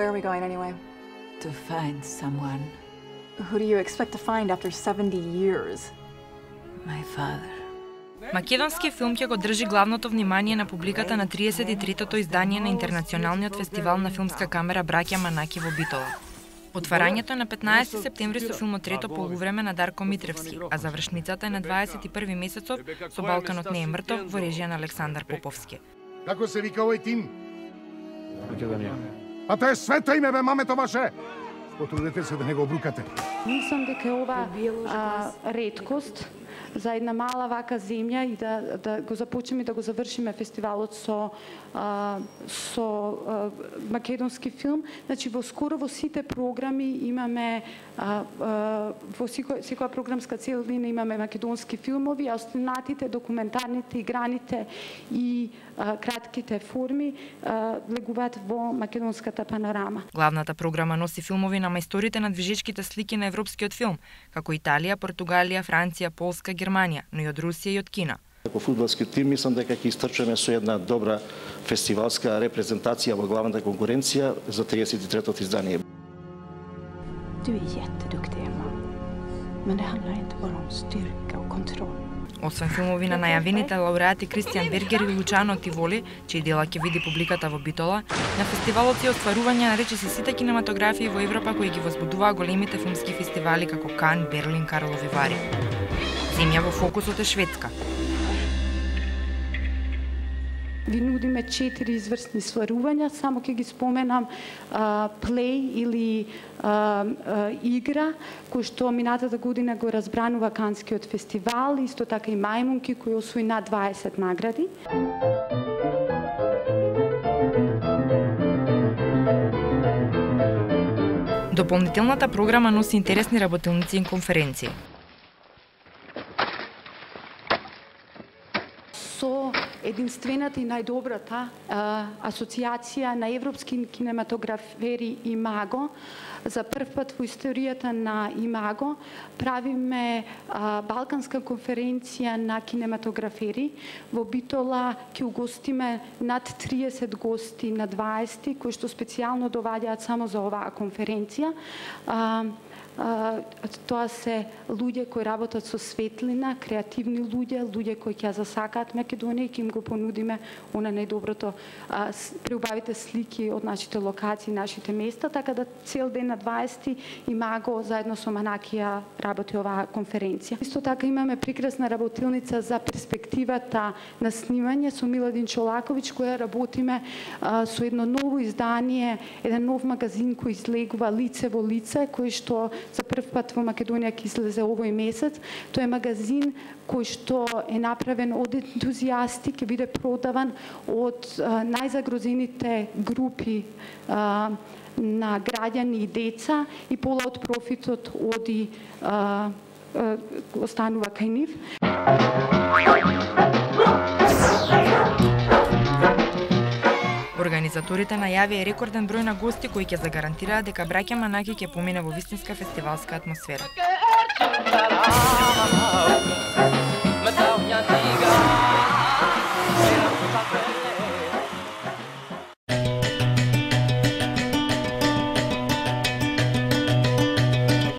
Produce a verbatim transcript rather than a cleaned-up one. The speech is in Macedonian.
where are we going anyway? To find someone. Who do you expect to find after seventy years? My father. Македонски филм ќе го држи главното внимание на публиката на триесет и третото издание на Интернационалниот фестивал на филмска камера Браќа Манаки во Битола. Отварањето е на петнаесети септември со филмот Трето полувреме на Дарко Митревски, а завршницата е на дваесет и први месецов со Балканот не е мртов во режија на Александар Поповски. Како се вика овој тим? Македонија. А тоа е свето име, бе, мамето ваше! Потрудете се да не го обрукате. Мислам дека е ова а, реткост за една мала вака земја и да, да го започнеме да го завршиме фестивалот со а, со а, македонски филм. Значи во скоро во сите програми имаме а, а, во секоја, секоја програмска целина имаме македонски филмови, а останатите документарните, играните и а, кратките форми а, легуваат во македонската панорама. Главната програма носи филмови на мајсторите на движечките слики на европскиот филм, како Италија, Португалија, Франција, Полска, Германија, но и од Русија и од Кина. Како фудбалски тим мислам дека ќе истрчаме со една добра фестивалска репрезентација во главната конкуренција за триесет и третото издание. Du är jätteduktig, Emma. Men det handlar inte bara om styrka och kontroll. Освен филмови на најавените лауреати Кристијан Бергер и Лучано Тиволи, чиј дела ќе види публиката во Битола, на фестивалот се остварување на речиси сите кинематографии во Европа кои ги возбудуваа големите филмски фестивали како Кан, Берлин, Карлови Вари. Земја во фокусот е Шведска. Ви нудиме четири изврсни сварувања, само ќе ги споменам а, плей или а, а, игра, кој што минатата година го разбранува Канскиот фестивал, исто така и Мајмунки, кој освои над дваесет награди. Дополнителната програма носи интересни работилници и конференции. Со единствената и најдобрата а, асоциација на европски кинематографери Имаго, за прв пат во историјата на Имаго правиме а, Балканска конференција на кинематографери. Во Битола ќе угостиме над триесет гости на дваесети, кои што специјално доваѓаат само за оваа конференција. А, Uh, тоа се луѓе кои работат со светлина, креативни луѓе, луѓе кои ќе засакаат Македонија и ќе им го понудиме она најдоброто, uh, преубавите слики од нашите локации, нашите места, така да цел ден на дваесети Имаго заедно со Манакија работи оваа конференција. Исто така имаме прекрасна работилница за перспективата на снимање со Миладин Чолаковиќ, која работиме uh, со едно ново издание, еден нов магазин кој излегува Лице во лице, кој што за прв пат во Македонија ќе излезе овој месец. Тоа е магазин кој што е направен од ентузијасти, ќе биде продаван од а, најзагрозените групи а, на граѓани и деца и пола од профитот оди а, а, останува кај нив. Организаторите најавија рекорден број на гости кои ќе загарантираат дека Браќа Манаки ќе помине во вистинска фестивалска атмосфера.